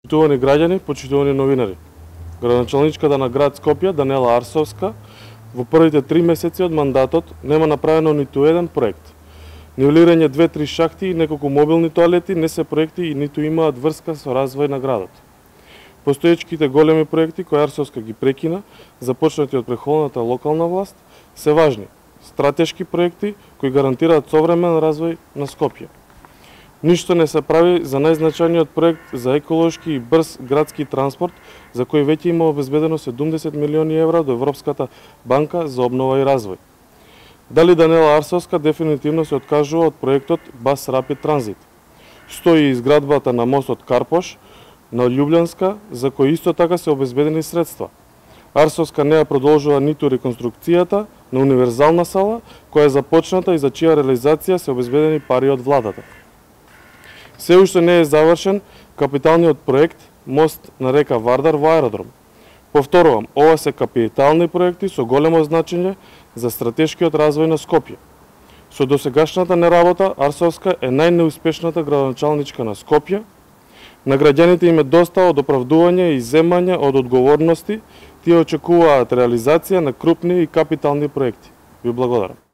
Почитувани граѓани, почитувани новинари. Градоначалничката на град Скопје, Данела Арсовска, во првите 3 месеци од мандатот нема направено ниту еден проект. Нивелирање 2-3 шахти и неколку мобилни тоалети не се проекти и ниту имаат врска со развој на градот. Постоечките големи проекти кои Арсовска ги прекина, започнати од претходната локална власт, се важни, стратешки проекти кои гарантираат современ развој на Скопје. Ништо не се прави за најзначајниот проект за еколошки и брз градски транспорт, за кој веќе има обезбедено 70 милиони евра до Европската банка за обнова и развој. Дали Данела Арсовска дефинитивно се откажува од проектот Бас Рапид Транзит? Стои изградбата на мостот Карпош на Љубљанска, за кој исто така се обезбедени средства. Арсовска не ја продолжува ниту реконструкцијата на универзална сала, која е започната и за чија реализација се обезбедени пари од владата. Се уште не е завршен капиталниот проект мост на река Вардар во аеродром. Повторувам, ова се капитални проекти со големо значење за стратешкиот развој на Скопје. Со досегашната неработа, Арсовска е најнеуспешната градоначалничка на Скопје. На граѓаните им е доста од оправдување и земање од одговорности, тие очекуваат реализација на крупни и капитални проекти. Ви благодарам.